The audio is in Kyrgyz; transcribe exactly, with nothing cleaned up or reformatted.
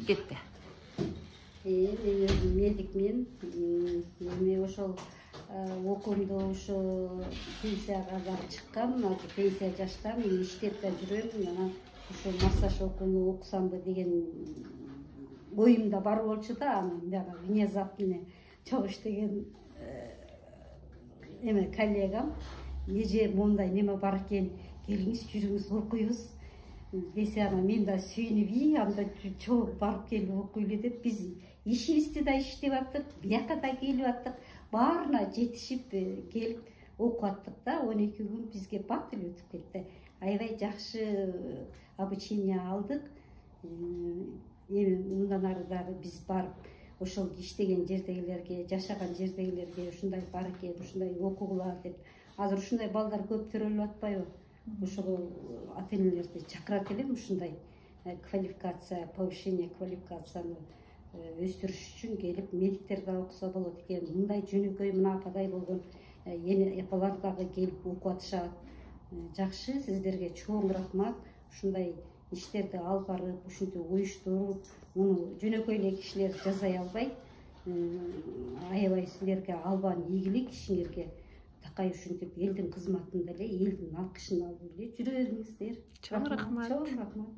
кетти. Мен өзүм медикмин. Эми ошол окуумду ошо пенсияга барып чыккам. Азыр пенсия жаштамын, иштеп да жүрөм. Анан ошо массаж окууну окусамбы деген оюмда бар болчу да. Анан дагы внезапно чогуу иштеген эме коллегам эже мондай неме бар экен, келиңиз жүрүңүз окуйбуз десе, анан мен да сүйүнүп, и анда чогуу барып келип окуйлу деп, биз ишибизди да иштеп аттык, бияка да келип аттык, баарына жетишип келип окуп аттык да. он эки күн бизге бат эле өтүп кетти. Аябай жакшы обучение алдык. Эми мындан ары дагы биз барып ошол иштеген жердегилерге, жашаган жердегилерге ушундай бар экен, ушундай окугула деп. Азыр ушундай балдар көп төрөлүп атпайбы? Ошого ата-энелерди чакырат элем, ушундай квалификация, повышение квалификацияны өстүрүш үчүн келип медиктер да окуса болот экен. Мындай жөнөкөй мына ападай болгон эне апалар дагы келип окуп атышат. Жакшы, сиздерге чоң рахмат. Ушундай иштерди алып барып, ушинтип уюштуруп, муну жөнөкөй эле кишилер жасай албайт. Аябай силерге албан ийгилик, ишиңерге такай ушинтип элдин кызматында эле, элдин алкышын алып эле жүрө бериңиздер. Чоң рахмат. Чоң рахмат.